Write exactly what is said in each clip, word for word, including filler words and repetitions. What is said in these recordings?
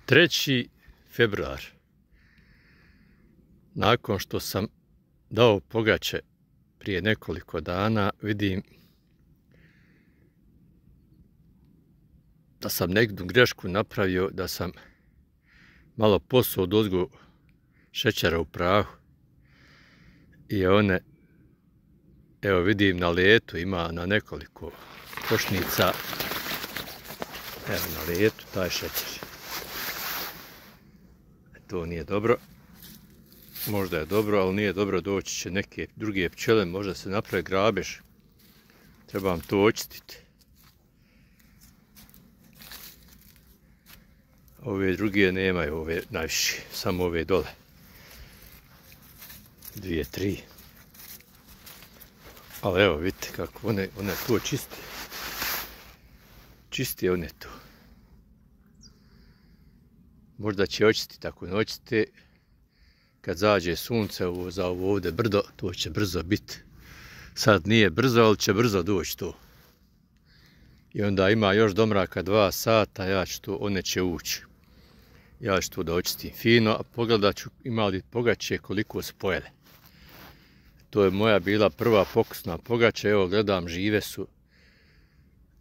treći februar. Nakon što sam dao pogače prije nekoliko dana, vidim da sam neku grešku napravio, da sam malo posuo odozgo šećera u prahu i one, evo vidim na letu ima na nekoliko košnica, evo na letu taj šećer. To nije dobro, možda je dobro, ali nije dobro, doći će neke druge pčele, možda se napravi grabež, trebam to očistiti. Ove druge nemaju, ove najviše, samo ove dole. Dvije, tri. Ali evo vidite kako one, one to čiste. Čiste one to. Možda će očistiti, ako ne očiste, kad zađe sunce ovo, za ovo ovdje brdo, to će brzo biti. Sad nije brzo, ali će brzo doći to. I onda ima još do mraka dva sata, ja ću to, one će ući. Ja ću to da očistim fino, a pogledat ću ima li pogače koliko su pojele. To je moja bila prva pokusna pogača, evo gledam, žive su.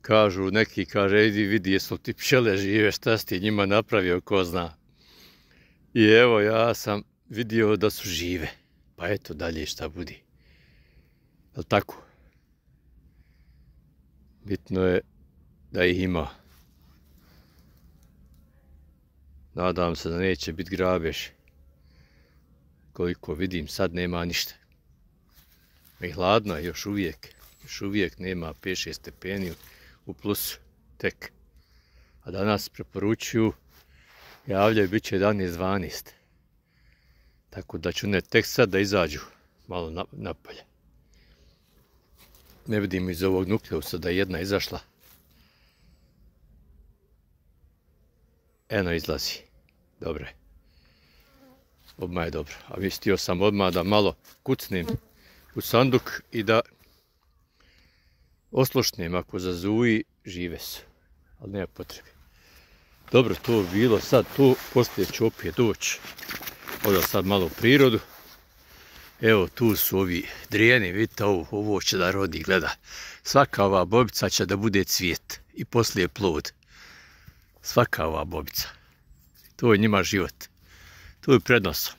Kažu, neki kaže, idi vidi jesu ti pčele žive, šta si ti njima napravio, ko zna. I evo ja sam vidio da su žive, pa eto dalje šta budi. Jel tako? Bitno je da ih ima. Nadam se da neće biti grabež. Koliko vidim, sad nema ništa. I hladno je još uvijek. Još uvijek nema pet šest stepeni u plusu tek. A danas preporučuju, javljaju bit će jedanaest dvanaest. Tako da ću ne tek sad da izađu malo napolje. Ne vidim iz ovog nukleusa da je jedna izašla. Eno izlazi. Dobre. Odmah je dobro. A mislio sam odmah da malo kucnem u sanduk i da oslušnem. Ako zazuji, žive su. Ali nema potrebe. Dobro, to je bilo sad tu. Poslije ću opet doći. Odao sad malo u prirodu. Evo tu su ovi drijeni. Vidite ovo, ovo će da rodi, gleda. Svaka ova bobica će da bude cvijet. I poslije plod. Svaka ova bobica. To je njima život. To je prednosom.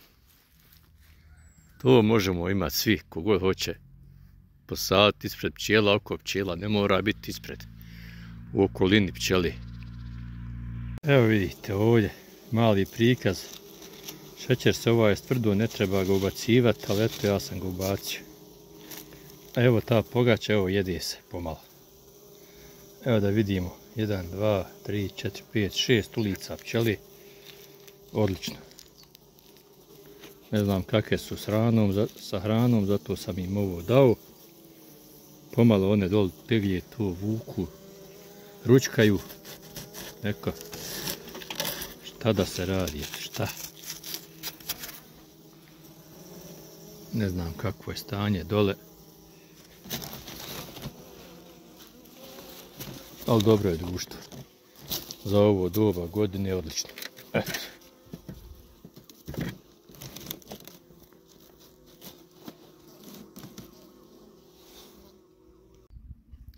To možemo imati svi, kogod hoće. Posaditi ispred pčela, oko pčela. Ne mora biti ispred. U okolini pčeli. Evo vidite ovdje mali prikaz. Šećer se ovaj stvrdo, ne treba ga ubacivati, ali eto ja sam ga ubacio. Evo ta pogača, evo jede se pomalo. Evo da vidimo. jedan, dva, tri, četiri, pet, šest ulica pčeli. Odlično. Ne znam kakve su s hranom, sa hranom, zato sam im ovo dao. Pomalo one dole teglje to vuku, ručkaju. Neka, šta da se radi, šta? Ne znam kakvo je stanje dole. Ali dobro je društvo. Za ovo doba godine je odlično. Eto.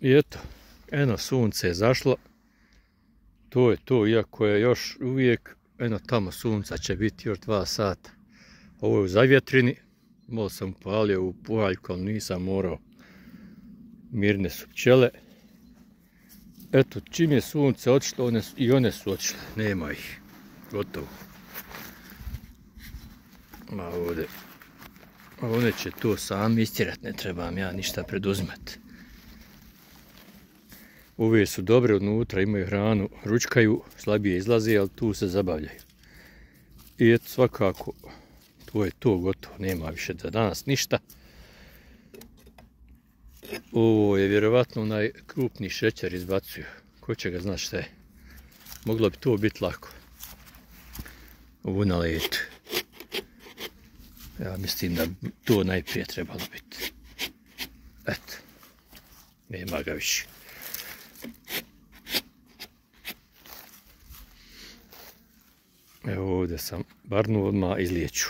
I eto, eno sunce je zašlo. To je to, iako je još uvijek, eno tamo sunca će biti još dva sata. Ovo je u zavjetrini. Malo sam upalio u puhaljku, ali nisam morao. Mirne su pčele. Eto, čim je sunce otišlo, one, i one su otišle. Nema ih. Gotovo. Ma ovdje. One će to sami istjerati, ne trebam ja ništa preduzimati. Ove su dobre unutra, imaju hranu, ručkaju, slabije izlaze, ali tu se zabavljaju. I eto, svakako, to je to gotovo, nema više za danas ništa. Ovo je vjerovatno onaj krupni šećer izbacuju. Ko će ga znati šta je. Moglo bi to biti lako. Ovo na letu. Ja mislim da to najprije trebalo biti. Eto. Nema ga više. Evo ovdje sam barnu odmah izliječu.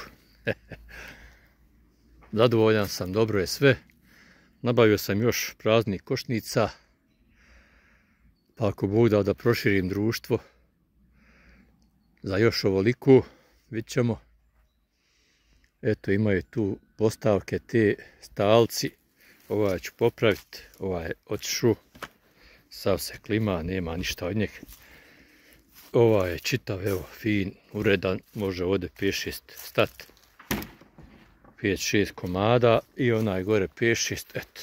Zadovoljan sam, dobro je sve. Nabavio sam još praznih košnica. Pa ako Bog da da proširim društvo za još ovoliko, vidit ćemo. Eto, imaju tu postavke, te stalci. Ovaj ću popraviti, ovaj je otišao. Sav se klima, nema ništa od njeg. Ovaj je čitav, evo, fin, uredan, može ovdje pet šest stat. pet šest komada i onaj gore pet šest, eto.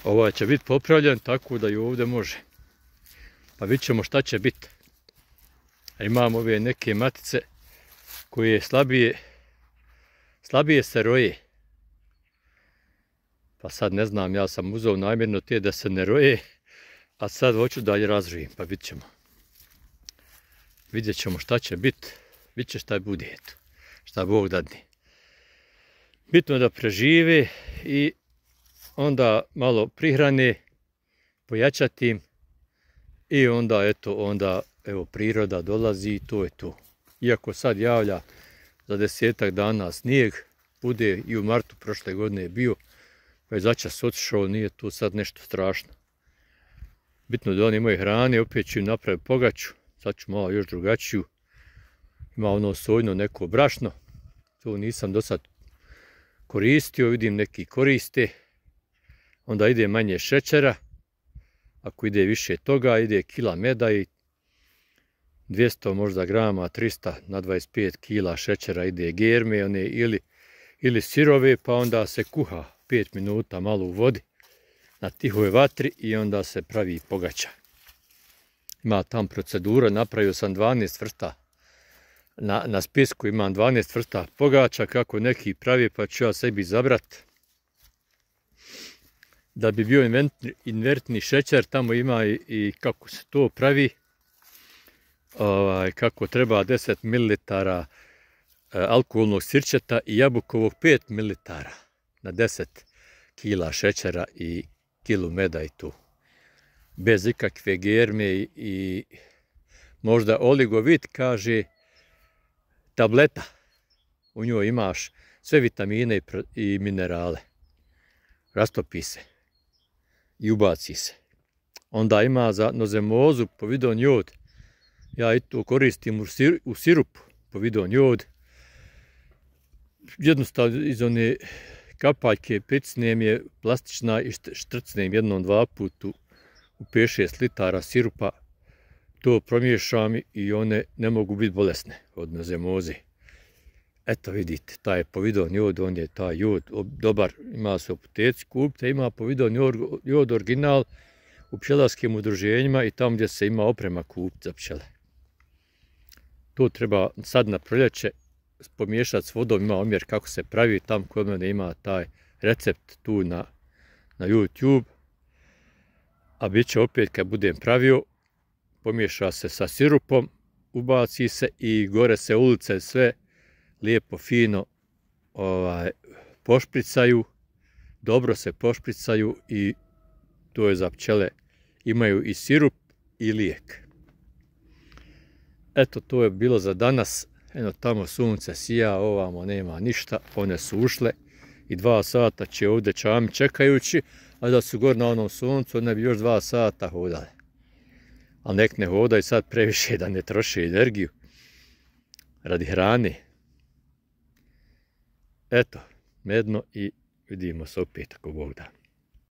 Ovaj će biti popravljen tako da i ovdje može. Pa vidit ćemo šta će biti. Imamo ove neke matice koje slabije, slabije se roje. Pa sad ne znam, ja sam uzeo namjerno te da se ne roje, a sad hoću da je razrojem, pa vidit ćemo. Vidjet ćemo šta će biti, vidit će šta bude, eto, šta Bog dadne. Bitno je da prežive i onda malo prihrane, pojačati im i onda, eto, onda, evo, priroda dolazi i to je to. Iako sad javlja za desetak dana snijeg, bude i u martu prošle godine je bio, pa je začas otišao, nije to sad nešto strašno. Bitno da oni imaju hrane, opet ću im napraviti pogaču, sad ću malo još drugačiju. Ima ono sojno neko brašno, to nisam do sad koristio, vidim neki koriste. Onda ide manje šećera, ako ide više toga, ide kila meda i dvjesto možda grama, tristo na dvadeset pet kila šećera ide germe, one ili, ili sirove, pa onda se kuha pet minuta malo u vodi na tihoj vatri i onda se pravi pogača. Ima tam procedura, napravio sam dvanaest vrsta. Na, na spisku imam dvanaest vrsta pogača, kako neki pravi, pa ću ja sebi zabrat. Da bi bio invertni, invertni šećer, tamo ima i, i kako se to pravi. Ovaj, kako treba deset mililitara alkoholnog sirćeta i jabukovog pet mililitara na deset kila šećera i kilu meda i tu. Bez ikakve germe i, i možda oligovit, kaže, tableta. U njoj imaš sve vitamine i, i minerale. Rastopi se i ubaci se. Onda ima za nozemozu povidon jod. Ja i to koristim u, sir, u sirupu povidon jod. Jednostavno iz one kapaljke pecnem je plastična i štrcnem jednom dva puta u pet šest litara sirupa. To promiješam i one ne mogu biti bolesne od nozemoze. Eto vidite, taj povidon jod, on je taj jod dobar, ima se u apoteci, kupite, ima povidon jod, jod original u pčelarskim udruženjima i tamo gdje se ima oprema kupiti za pčele. To treba sad na proljeće pomiješati s vodom, ima omjer kako se pravi, tam kod mene ima taj recept tu na, na YouTube. A bit će opet kad budem pravio, pomiješa se sa sirupom, ubaci se i gore se ulice sve lijepo, fino ovaj, pošpricaju, dobro se pošpricaju i to je za pčele. Imaju i sirup i lijek. Eto, to je bilo za danas. Eno, tamo sunce sija, ovamo nema ništa, one su ušle i dva sata će ovdje čami čekajući, a da su gore na onom suncu, one bi još dva sata hodale. Ali nek ne hodaju sad previše da ne troše energiju radi hrane. Eto, medno i vidimo se opet ako Bog da.